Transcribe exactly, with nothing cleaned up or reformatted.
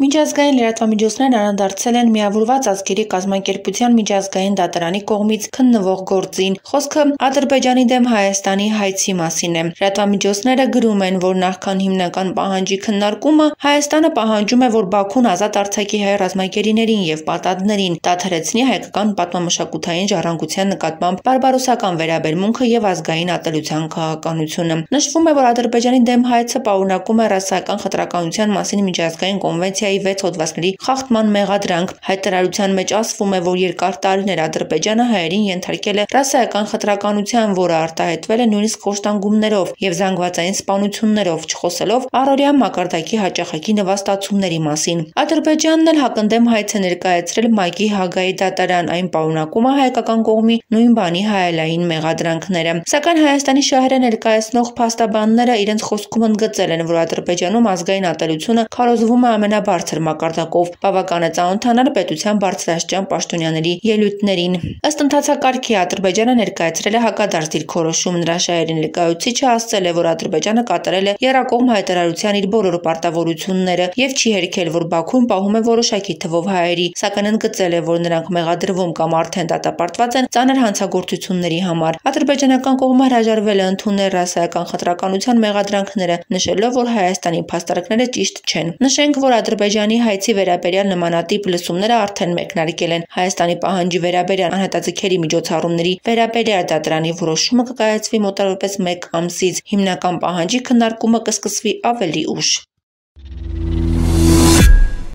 Միջազգային լրատվամիջոցներն անդրադարձել են Միավորված ազգերի կազմակերպության միջազգային դատարանի կողմից քննվող գործին։ Խոսքը Ադրբեջանի դեմ Հայաստանի հայցի մասին է։ Լրատվամիջոցները գրում են, որ նախքան հիմնական պահանջի քննարկումը Հայաստանը պահանջում է, որ Բաքուն ազատ արձակի հայ ռազմագերիներին և պատանդներին, դադարեցնի հայկական պատմամշակութային ժառանգության նկատմամբ բարբարոսական վերաբերմունքը և ազգային ատելության քաղաքականությունը։ Նշվում է, որ Ադրբեջանի դեմ հայցը պարունակում է ռասայական խտրականության մասին միջազգային կոնվենցիայի վեց հոդվածների խախտման մեղադրանք։ Հայտարարության մեջ ասվում է, որ երկար տարիներ Ադրբեջանը հայերին ենթարկել է ռասայական խտրականության, որը արտահայտվել է նույնիսկ խոշտանգումներով և զանգվածային սպանություններով, չխոսելով առօրյա մակարդակի հաճախակի նվաստացումների մասին։ Ադրբեջանն էլ հակընդդեմ հայց է ներկայացրել ՄԱԿ-ի Հաագայի դատարան, այն պարունակում է հայկական կողմի նույն բանի հայելային մեղադրանքները։ Սակայն Հայաստանի շահերը ներկայացնող փաստաբանները իրենց խոսքում ընդգծել են, որ Ադրբեջանում ազգային ատելությունը քարոզվում է ամենաբարձր մակարդակով, բավական է ծանոթանալ պետության բարձրաստիճան պաշտոնյաների ելույթներին։ Ըստ ընթացակարգի Ադրբեջանը ներկայացրել է հակադարձ դիրքորոշում։ Նրա շահերի ներկայացուցիչը ասել է, որ Ադրբեջանը կատարել է եռակողմ հայտարարության իր բոլոր պարտավորությունները և չի հերքել, որ Բաքուն պահում է որոշակի թվով հայերի, սակայն ընդգծել է, որ նրանք մեղադրվում կամ արդեն դատապարտված են ծանր հանցագործությունների համար։ Ադրբեջանական կողմը հրաժարվել է ընդունել ռասայական խտրականության մեղադրանքները, նշելով, որ Հայաստանի փաստարկները ճիշտ չեն։ Նշենք, որ Ադրբեջանի հայցի վերաբերյալ նմանատիպ լսումները արդեն մեկնարկել են։ Հայաստանի պահանջի վերաբերյալ անհետաձգելի միջոցառումների վերաբերյալ դատարանի որոշումը կկայացվի մոտավորապես մեկ ամսից։ Հիմնական պահանջի քննարկումը կսկսվի ավելի ուշ։